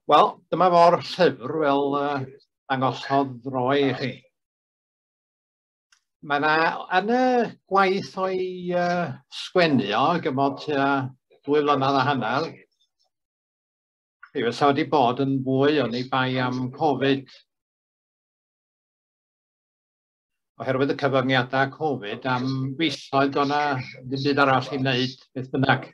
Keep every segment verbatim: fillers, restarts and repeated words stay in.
Wel, dyma fo'r llyfr fel uh, dangosodd Roy i chi. Mae yna, yn y gwaith o'i uh, sgwennu o, gymod tua dwy flynedd a hanner, mi fysa wedi bod yn fwy oni bai am Covid. Oherwydd y cyfyngiadau Covid, am fisoedd o'na ddim byd arall i wneud, beth bynnag.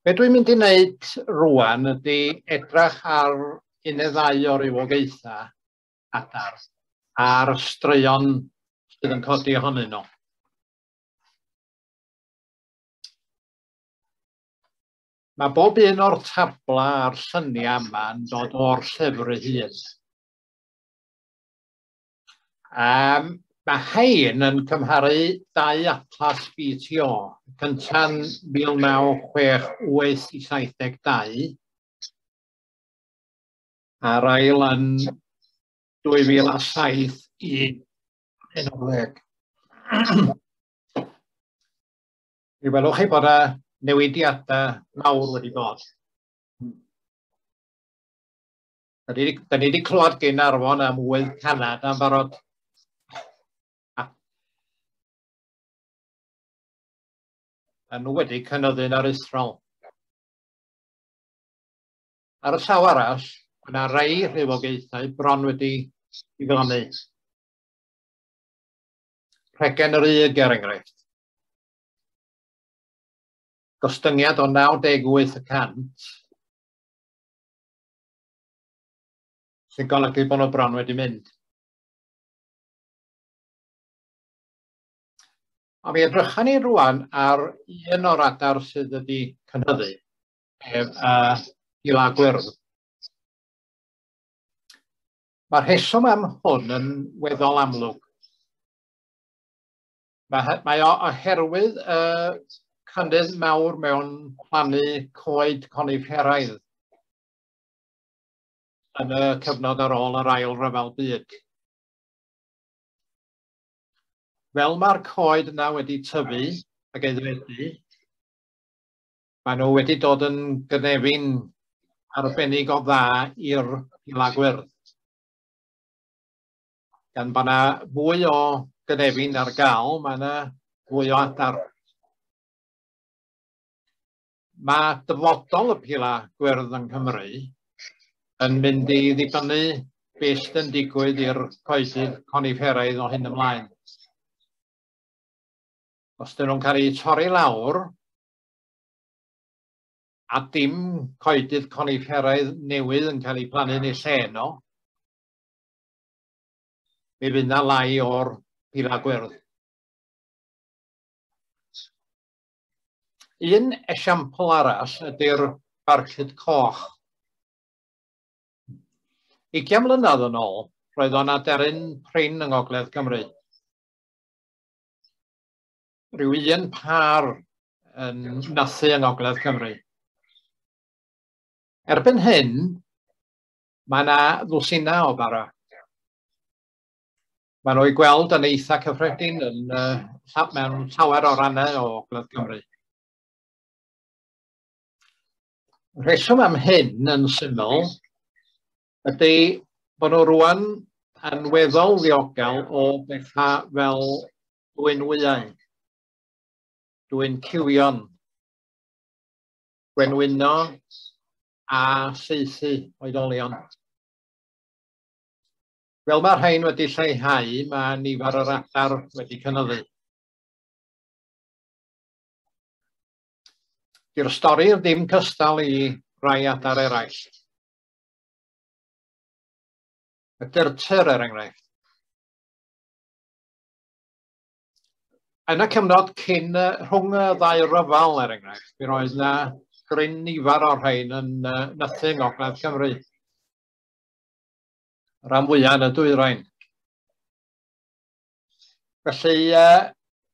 Be dwi'n mynd i wneud rŵan ydy edrych ar un neu ddau o rywogaethau adar a'r straeon sydd yn codi ohonyn nhw. Mae bob un o'r tabla a'r lluniau yma yn dod o'r llyfr ei hun. Um, mae hein yn cymharu dau atlas B T O, cynta'n mil naw chwech wyth i saith deg dau, a'r ail yn dwy fil a saith i un o'r ddeg. Mi welwch chi bod y newidiadau mawr wedi bod. Da ni wedi clywed gen Arfon am ŵydd Canada yn barod. A nhw wedi cynyddu'n aruthrol. Ar y llaw arall, mae yna rai rhywogaethau bron wedi diflannu. Rhegen yr Ug, er enghraifft. Gostyngiad o naw deg wyth y cant, sy'n golygu bod nhw bron wedi mynd. Ond mi edrychan ni rŵan ar un o'r adar sydd wedi cynyddu, sef uh, Gila Gwyrdd. Mae'r rheswm am hwn yn weddol amlwg. Mae, mae o oherwydd y uh, cynnydd mawr mewn plannu coed conifferaidd yn y cyfnod ar ôl yr Ail Ryfel Byd. Fel mae'r coed yna wedi tyfu ac aeddfedu, maen nhw wedi dod yn gynefin arbennig o dda i'r Gila Gwyrdd. Gan bod yna fwy o gynefin ar gael, mae yna fwy o adar. Mae dyfodol y Pila Gwyrdd yng Nghymru yn mynd i ddibynnu beth sydd yn digwydd i'r coedydd conifferaidd o hyn ymlaen. Os dyn nhw'n cael eu torri lawr a dim coedydd conifferaidd newydd yn cael eu plannu yn eu lle nhw, mi fydd yna lai o'r Pila Gwyrdd. Un esiampl arall ydy'r barcud coch. Ugain mlynedd yn ôl, roedd o'n aderyn prin yng Ngogledd Cymru. Rhyw un pâr yn nythu yng Ngogledd Cymru. Erbyn hyn, mae yna ddwsinau o bara. Maen nhw i gweld yn eitha cyffredin yn, uh, mewn llawer o rannau o Ogledd Cymru. Rheswm am hyn yn syml ydy bod nhw rŵan yn weddol ddiogel o bethau fel dwyn wyau, dwyn cywion, gwenwyno a saethu oedolion. Fel mae'r rhain wedi lleihau, mae nifer yr adar wedi cynyddu. Di'r stori ddim cystal i rai adar eraill. Y dyrtyr, er enghraifft. Yn y cyfnod cyn rhwng y ddau ryfel, er enghraifft, mi roedd yna gryn nifer o'r rhain yn nythu yng Ngogledd Cymru. Rhan fwyaf yn y dwyrain. Felly,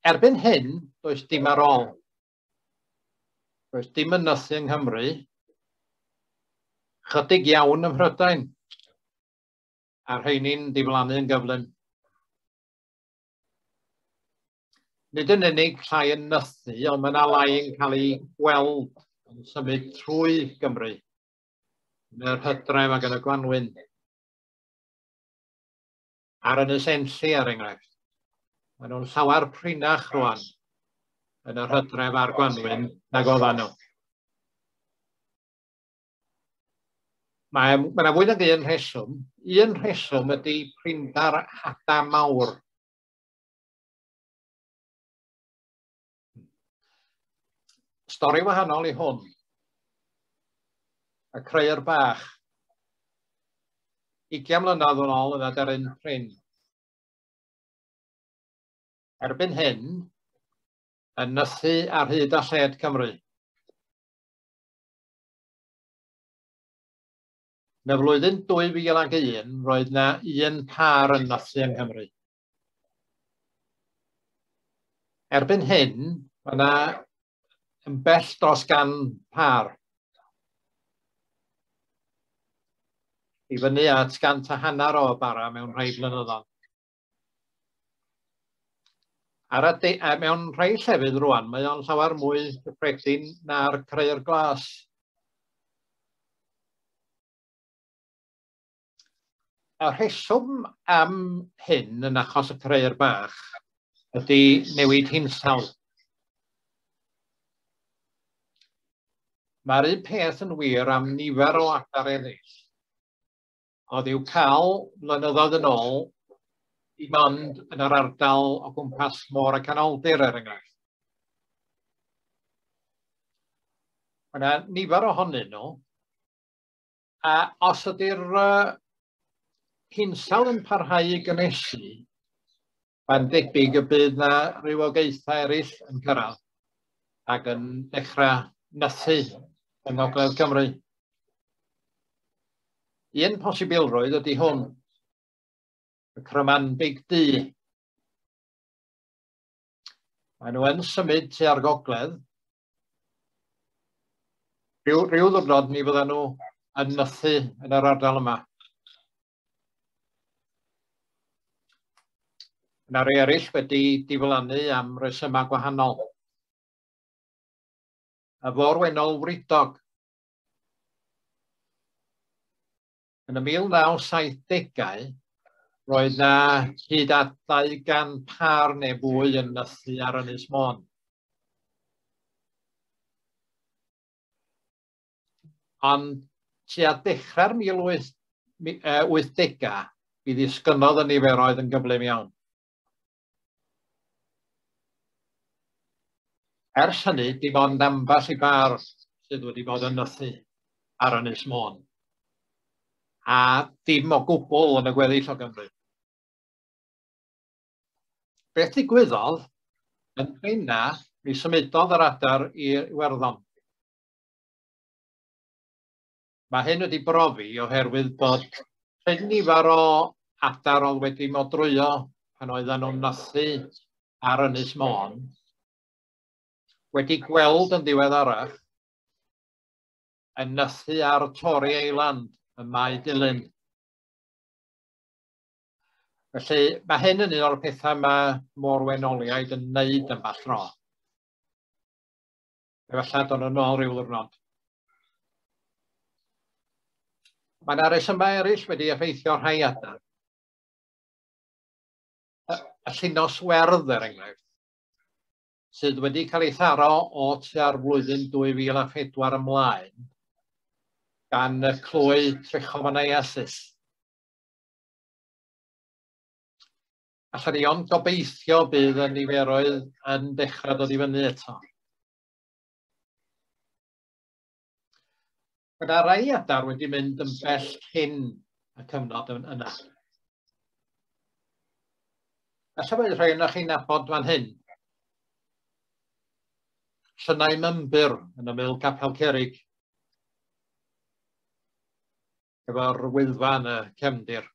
erbyn hyn, does dim ar ôl. Does dim yn nythu yng Nghymru, chydig iawn ym Mhrydain, a'r rheini'n diflannu yn gyflym. Nid yn unig llai yn nythu, ond mae yna lai yn cael ei gweld yn symud trwy Gymru yn yr hydref ac yn y gwanwyn. Ar Ynys Enlli, er enghraifft. Maen nhw'n llawer prinach rwan yn yr hydref a'r gwanwyn nag oedden nhw. Mae yna fwy nag un rheswm. Un rheswm ydy prinder hada mawr. Stori wahanol i hwn. Y crëyr bach. Ugain mlynedd yn ôl yn aderyn prin. Erbyn hyn, yn nythu ar hyd a lled Cymru. Yn y flwyddyn dwy fil ag un, roedd yna un pâr yn nythu yng Nghymru. Erbyn hyn, mae yna yn bell dros gan pâr. I fyny at gant a hanner o bara mewn rhai blynyddoedd. Ar ade, a mewn rhai llefydd rwan, mae o'n llawer mwy cyffredin na'r crëyr glas. Y rheswm am hyn yn achos y crëyr bach ydy newid hinsawdd. Mae'r un peth yn wir am nifer o adar eraill. Oedd i'w cael blynyddoedd yn ôl dim ond yn yr ardal o gwmpas Môr y Canoldir, er enghraifft. Mae yna nifer ohonyn nhw, a os ydy'r uh, hinsawdd yn parhau i gynhesu, mae'n debyg y bydd yna rywogaethau eraill yn cyrraedd ac yn dechrau nythu yng Ngogledd Cymru. Un posibilrwydd ydy hwn, y crymanbig du. Maen nhw yn symud tua'r gogledd. Rhyw, rhyw ddwrnod mi fyddan nhw yn nythu yn yr ardal yma. Yna rhai eraill wedi diflannu am resymau gwahanol. Y fôr-wennol wridog. Yn y mil naw saithdegau, roedd na hyd at dau gan pâr neu fwy yn nythu ar Ynys Môn. Ond tua dechrau'r mil wythdegau, mi ddisgynnodd y niferoedd yn gyflym iawn. Ers hynny, dim ond ambell i bâr sydd wedi bod yn nythu ar Ynys Môn, a dim o gwbl yn y gweddill o Gymru. Beth ddigwyddodd, yn benna, mi symudodd yr adar i Iwerddon. Mae hyn wedi brofi oherwydd bod cryn nifer o adar oedd wedi modrwyo pan oedden nhw'n nythu ar Ynys Môn, wedi gweld yn ddiweddarach yn nythu ar Tory Island ym Mae Dulyn. Felly mae hyn yn un o'r pethau mae môr-wenoliaid yn wneud yn bell dro. Efallai dod yn ôl rhyw ddiwrnod. Mae yna resymau eraill wedi effeithio rhai adar. Y, y llinos werdd, er enghraifft, sydd wedi cael ei tharo o tua'r flwyddyn dwy fil a phedwar ymlaen gan y clwy trichomoniasis. Allan ni ond gobeithio bydd y niferoedd yn dechrau dod i fyny eto. Mae yna rai adar wedi mynd yn bell cyn y cyfnod yna. Alla bod rhai ohonoch chi'n nabod fan hyn. Llynau Mymbyr yn ymyl Capel Cerig, efo'r Wyddfa yn y cefndir.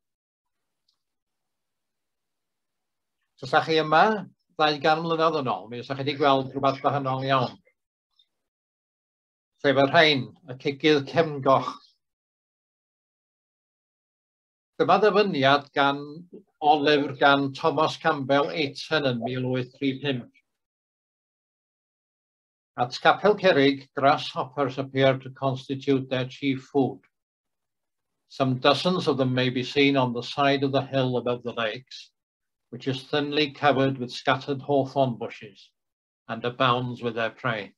Os ydych chi yma ddau gan mlynedd yn ôl, mi fysa chi wedi gweld rhywbeth gwahanol iawn. Sef y rhain, y cigydd cefngoch. Dyma ddyfyniad gan o lyfr gan Thomas Campbell Ayton yn mil wyth tri pump. At Capel Curig, grasshoppers appear to constitute their chief food. Some dozens of them may be seen on the side of the hill above the lakes, which is thinly covered with scattered hawthorn bushes and abounds with their prey.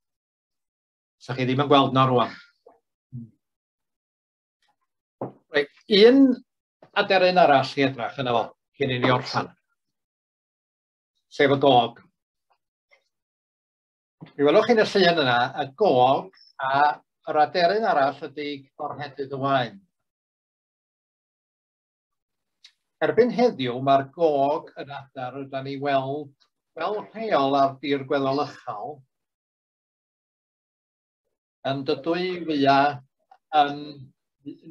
Sa chi ddim yn gweld na rwan. Reit, un aderyn arall i edrach yna fo, cyn i ni orffan, sef y gog. Mi welwch chi'n y llun yna, y gog a yr aderyn arall ydy corhedydd y wain. Erbyn heddiw, mae'r gog yn adar ydan ni weld fel rheol ar dir gweddol uchel, yn dydw i fwyaf yn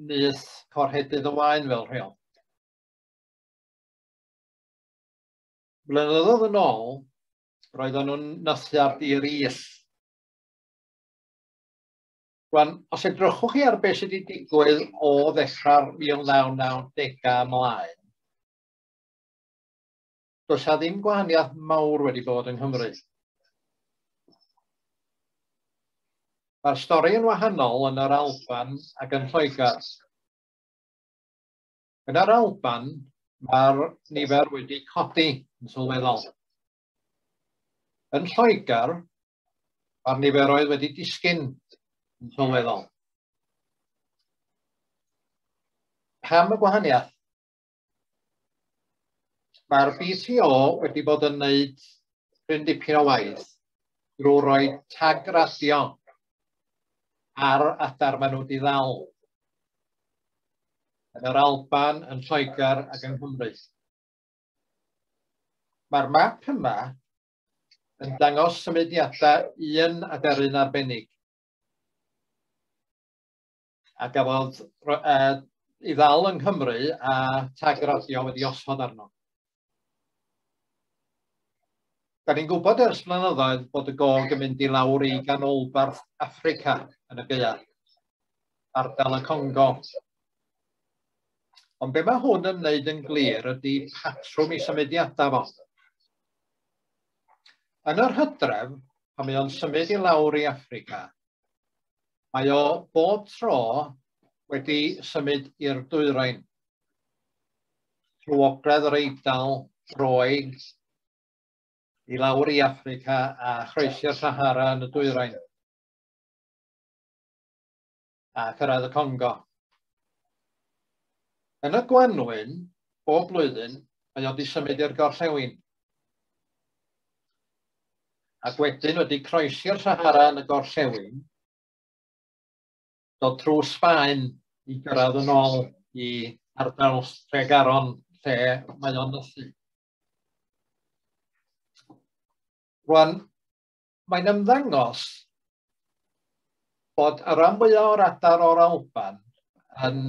nyth corhedydd y wain fel rheol. Blynyddoedd yn ôl, roedden nhw'n nythu ar dir is. Rwan, os edrychwch chi ar beth sydd wedi digwydd o ddechrau'r mil naw naw degau ymlaen, does 'na ddim gwahaniaeth mawr wedi bod yng Nghymru. Mae'r stori yn wahanol yn yr Alban ac yn Lloegr. Yn yr Alban, mae'r nifer wedi codi yn sylweddol. Yn Lloegr, mae'r niferoedd wedi disgyn yn sylweddol. Pam y gwahaniaeth? Mae'r B T O wedi bod yn gwneud cryn dipyn o waith drwy roi tag radio ar adar maen nhw wedi ddal yn yr Alban, yn Lloegr ac yng Nghymru. Mae'r map yma yn dangos symudiadau un aderyn arbennig a gafodd uh, ei ddal yng Nghymru a tag radio wedi osod arno. Da ni'n gwybod ers blynyddoedd bod y gog yn mynd i lawr i ganolbarth Affrica yn y gaeaf, ardal y Congo. Ond be mae hwn yn wneud yn glir ydy patrwm i symudiadau fo. Yn yr hydref, pan mae o'n symud i lawr i Affrica, mae o bob tro wedi symud i'r dwyrain. Trwy ogledd yr Eidal, Roeg, i lawr i Affrica a chroesi'r Sahara yn y dwyrain a cyrraedd y Congo. Yn y gwanwyn, bob blwyddyn, mae o wedi symud i'r gorllewin. Ac wedyn wedi croesi'r Sahara yn y gorllewin, dod trwy Sbaen i gyrraedd yn ôl i ardal Tregaron lle mae o'n nythu. Rwan, mae'n ymddangos bod y rhan fwyaf o'r adar o'r Alban yn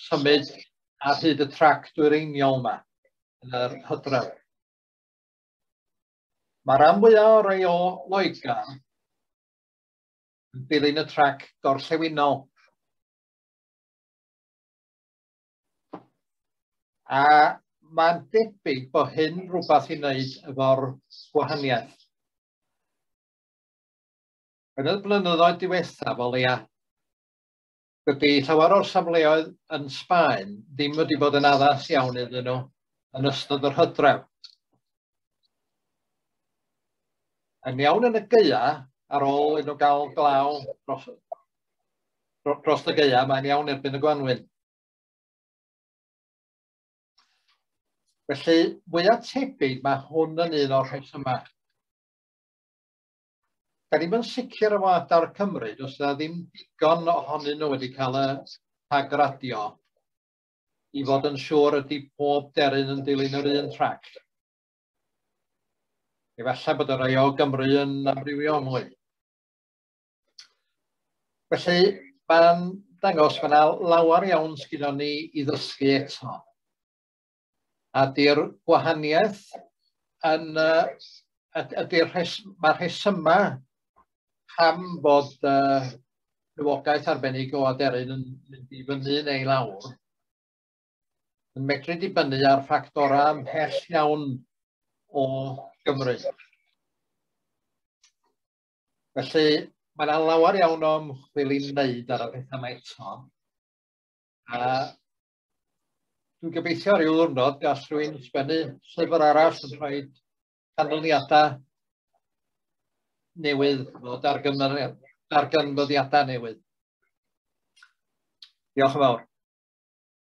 symud ar hyd y trac dwyreiniol yma yn yr hydref. Mae'r rhan fwyaf o'r rhai o Loegr yn dilyn y trac gorllewinol. A mae'n debyg bod hyn rhywbeth i wneud efo'r gwahaniaeth. Yn y blynyddoedd diwethaf o leia, dydy llawer o'r safleoedd yn Sbaen ddim wedi bod yn addas iawn iddyn nhw yn ystod yr hydref. Yn iawn yn y gaea, ar ôl iddyn nhw gael glaw dros, dros y gaea, mae'n iawn erbyn y gwanwyn. Felly, fwyaf tebyg mae hwn yn un o'r rhesymau. Da ni'm yn sicr efo adar Cymru, does yna ddim digon ohonyn nhw wedi cael y tag radio i fod yn siŵr ydy pob deryn yn dilyn yr un trac. Efallai bod y rhai o Gymru yn amrywio mwy. Felly, mae'n dangos mae yna lawer iawn sgynnon ni i ddysgu eto. A di'r gwahaniaeth yn, ydy'r rhes, mae'r rhesymau pam bod uh, rhywogaeth arbennig o aderyn yn mynd i fyny neu lawr yn medru dibynnu ar ffactorau ymhell iawn o Gymru. Felly, mae yna lawer iawn o ymchwil i wneud ar y pethau yma eto. A dwi'n gobeithio ryw ddiwrnod gall rhywun sgwennu llyfr arall yn rhoi canlyniadau newydd, o darganfyddiadau newydd. Diolch yn fawr.